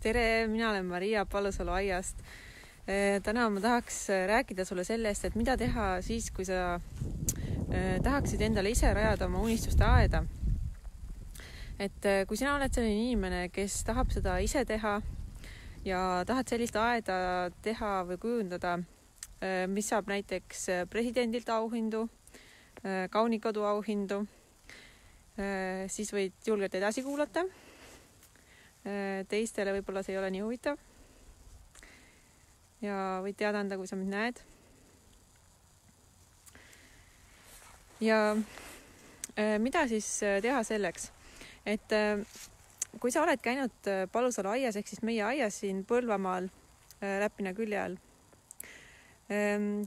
Tere, mina olen Maria Palusalu aiast. Täna ma tahaks rääkida sulle sellest, et mida teha siis, kui sa tahaksid endale ise rajada oma unistuste aeda. Et kui sina oled selline inimene, kes tahab seda ise teha ja tahad sellist aeda teha või kujundada, mis saab näiteks presidendilt auhindu, Kaunikodu auhindu, siis võid julgelt edasi kuulata. Teistele võib-olla see ei ole nii huvitav ja võid teada anda, kui sa mind näed. Ja mida siis teha selleks, et kui sa oled käinud Palusalu aias ehk siis meie aias siin Põlvamaal Räpina külje all,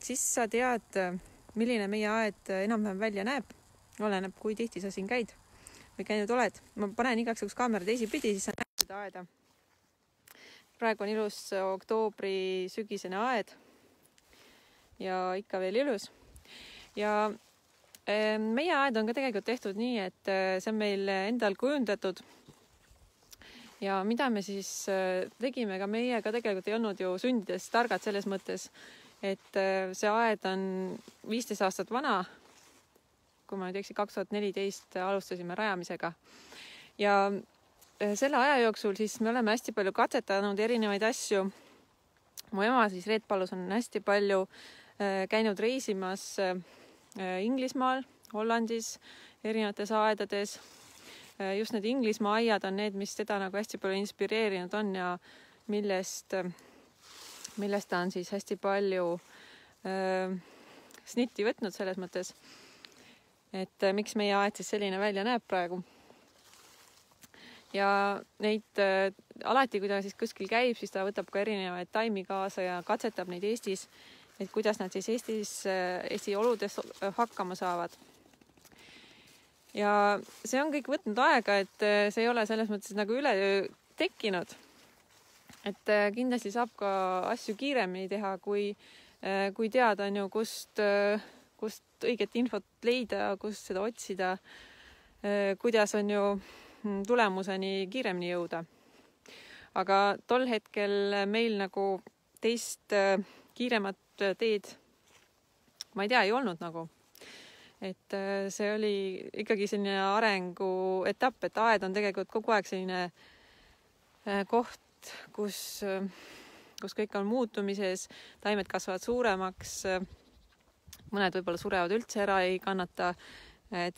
siis sa tead, milline meie aed enam-vähem välja näeb, oleneb, kui tihti sa siin käid või käinud oled. Ma panen igaks juhuks kaamera teisipidi, siis sa näed seda aeda. Praegu on ilus oktoobri sügisene aed ja ikka veel ilus. Ja meie aed on ka tegelikult tehtud nii, et see on meil endal kujundatud. Ja mida me siis tegime, ka meie ka tegelikult ei olnud ju sündides targad selles mõttes, et see aed on 15 aastat vana. Kui ma nüüd 2014 alustasime rajamisega. Ja selle aja jooksul siis me oleme hästi palju katsetanud erinevaid asju. Mu ema siis Reet Palus on hästi palju käinud reisimas Inglismaal, Hollandis, erinevates aedades. Just need Inglismaa aiad on need, mis teda nagu hästi palju inspireerinud on ja millest ta on siis hästi palju snitti võtnud selles mõttes. Et miks meie aed siis selline välja näeb praegu. Ja neid alati, kui ta siis kuskil käib, siis ta võtab ka erinevaid taimi kaasa ja katsetab neid Eestis, et kuidas nad siis Eesti oludes hakkama saavad. Ja see on kõik võtnud aega, et see ei ole selles mõttes nagu üleöö tekkinud. Et kindlasti saab ka asju kiiremini teha, kui teada on ju, kust õiget infot leida, kust seda otsida, kuidas on ju tulemuseni kiiremini jõuda. Aga tol hetkel meil nagu teist kiiremat teed, ma ei tea, ei olnud nagu. Et see oli ikkagi selline arengu etapp, et aed on tegelikult kogu aeg selline koht, kus kõik on muutumises, taimed kasvavad suuremaks, mõned võib-olla surevad üldse ära, ei kannata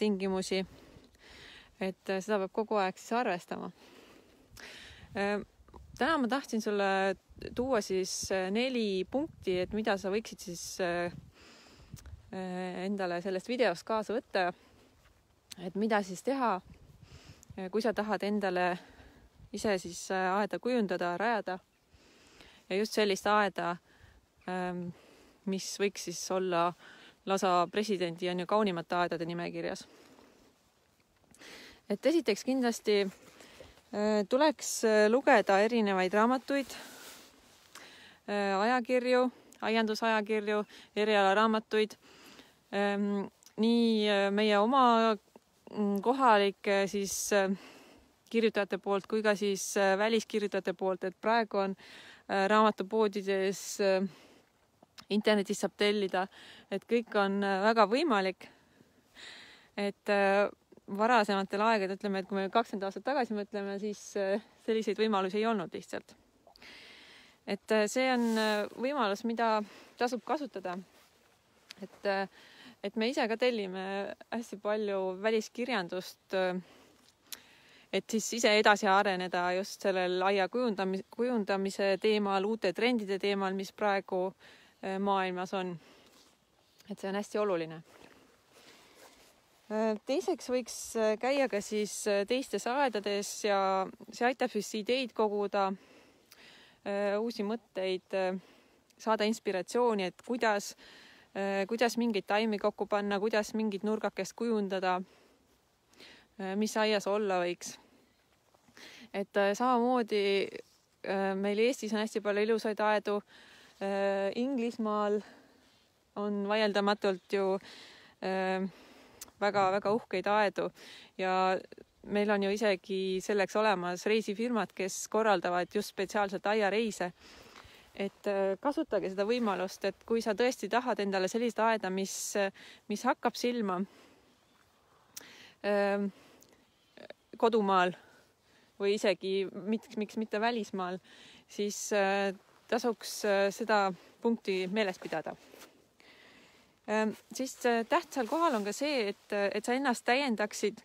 tingimusi. Et seda peab kogu aeg siis arvestama. Täna ma tahtsin sulle tuua siis 4 punkti, et mida sa võiksid siis endale sellest videost kaasa võtta. Et mida siis teha, kui sa tahad endale ise siis aeda kujundada, rajada. Ja just sellist aeda, mis võiks siis olla lausa presidendi ja kaunimate aedade nimekirjas. Et esiteks kindlasti tuleks lugeda erinevaid raamatuid, ajakirju, aiandusajakirju, erialaraamatuid, nii meie oma kohalike siis kirjutajate poolt kui ka siis väliskirjutajate poolt, et praegu on raamatupoodides internetis saab tellida, et kõik on väga võimalik. Et varasematel aegad, ütleme, et kui me 20 aastat tagasi mõtleme, siis selliseid võimalusi ei olnud lihtsalt. Et see on võimalus, mida tasub kasutada. Et me ise ka tellime hästi palju väliskirjandust, et siis ise edasi areneda just sellel aia kujundamise teemal, uute trendide teemal, mis praegu maailmas on. Et see on hästi oluline. Teiseks võiks käia ka siis teistes aedades ja see aitab siis ideid koguda, uusi mõtteid, saada inspiratsiooni, et kuidas mingeid taimi kokku panna, kuidas mingit nurgakest kujundada, mis aias olla võiks. Et samamoodi meil Eestis on hästi palju ilusaid aedu, Inglismaal on vaieldamatult ju väga-väga uhkeid aedu ja meil on ju isegi selleks olemas reisifirmad, kes korraldavad just spetsiaalselt aiareise. Et kasutage seda võimalust, et kui sa tõesti tahad endale sellist aeda, mis hakkab silma kodumaal või isegi miks mitte välismaal, siis tasuks seda punkti meeles pidada. Siis tähtsal kohal on ka see, et sa ennast täiendaksid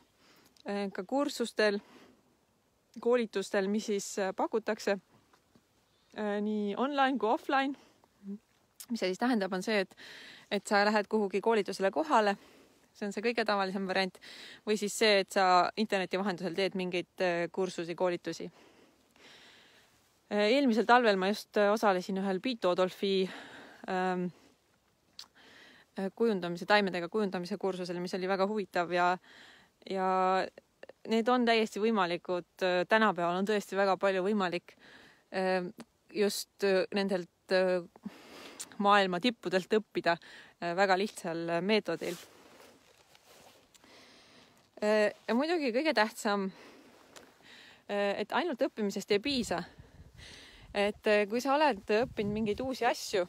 ka kursustel, koolitustel, mis siis pakutakse nii online kui offline. Mis see siis tähendab, on see, et sa lähed kuhugi koolitusele kohale, see on see kõige tavalisem variant, või siis see, et sa interneti vahendusel teed mingeid kursusi, koolitusi. Eelmisel talvel ma just osalesin ühel Piitodolfi taimedega kujundamise kursusel, mis oli väga huvitav ja need on täiesti võimalikud. Tänapäeval on tõesti väga palju võimalik just nendelt maailma tippudelt õppida väga lihtsal meetodil. Ja muidugi kõige tähtsam, et ainult õppimisest ei piisa. Et kui sa oled õppinud mingeid uusi asju,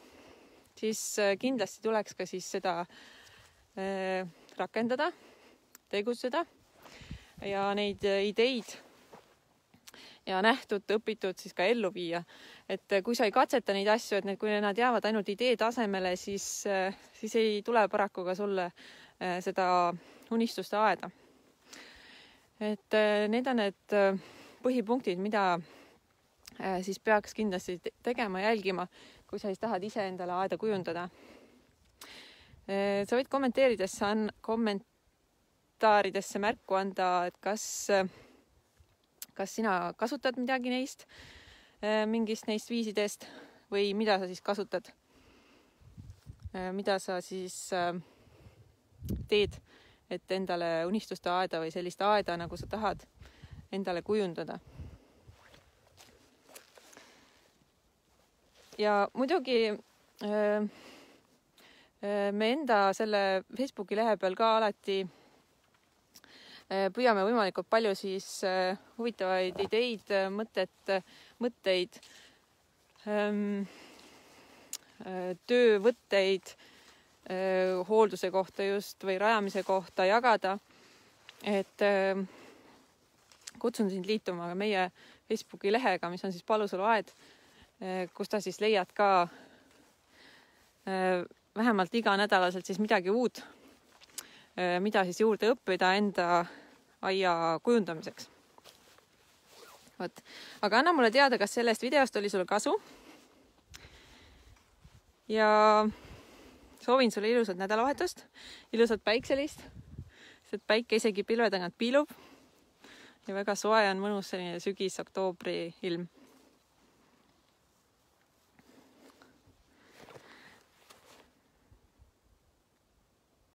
siis kindlasti tuleks ka siis seda rakendada, tegutseda ja neid ideid ja nähtud, õpitud siis ka ellu viia. Et kui sa ei katseta neid asju, et kui nad jäävad ainult idee tasemele, siis ei tule paraku ka sulle seda unistuste aeda. Et need on need põhipunktid, mida siis peaks kindlasti tegema, jälgima, kui sa siis tahad ise endale aeda kujundada. Sa võid kommentaaridesse märku anda, et kas sina kasutad midagi neist, mingist neist viisidest või mida sa siis kasutad, mida sa siis teed, et endale unistuste aeda või sellist aeda, nagu sa tahad endale kujundada. Ja muidugi me enda selle Facebooki lehe peal ka alati püüame võimalikult palju siis huvitavaid ideid, mõtteid, töövõtteid hoolduse kohta just või rajamise kohta jagada. Et kutsun sind liituma meie Facebooki lehega, mis on siis Palusalu aed, kus ta siis leiad ka vähemalt iganädalaselt siis midagi uut, mida siis juurde õppida enda aia kujundamiseks. Võt. Aga anna mulle teada, kas sellest videost oli sulle kasu. Ja soovin sulle ilusat nädalavahetust, ilusat päikselist, sest päike isegi pilve tagant piilub ja väga soe on mõnus selline sügis-oktoobri ilm.